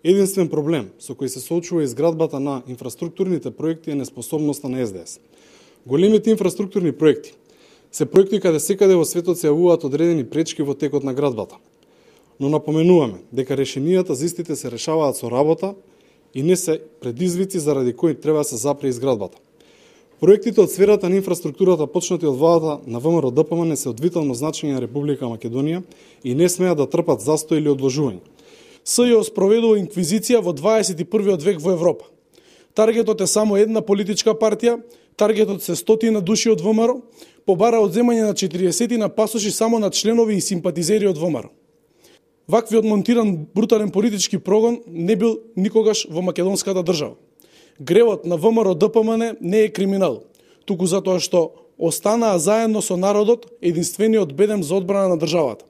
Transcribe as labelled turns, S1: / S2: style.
S1: Единствен проблем со кој се соочува изградбата на инфраструктурните проекти е неспособноста на СДС. Големите инфраструктурни проекти се проекти каде секаде во светот се јавуваат одредени пречки во текот на градбата. Но напоменуваме дека решенијата за истите се решаваат со работа и не се предизвици заради кои треба да се запре изградбата. Проектите од сферата на инфраструктурата почнати од владата на ВМРО-ДПМН се од витално значење на Република Македонија и не смеат да трпат застој или одложување.
S2: СЈО спроведува инквизиција во 21 век во Европа. Таргетот е само една политичка партија, таргетот се стотина души од ВМРО, побара одземање на 40 на пасоши само на членови и симпатизери од ВМРО. Ваквиот монтиран брутален политички прогон не бил никогаш во македонската држава. Гревот на ВМРО-ДПМН не е криминал, туку затоа што останаа заедно со народот единствениот бедем за одбрана на државата.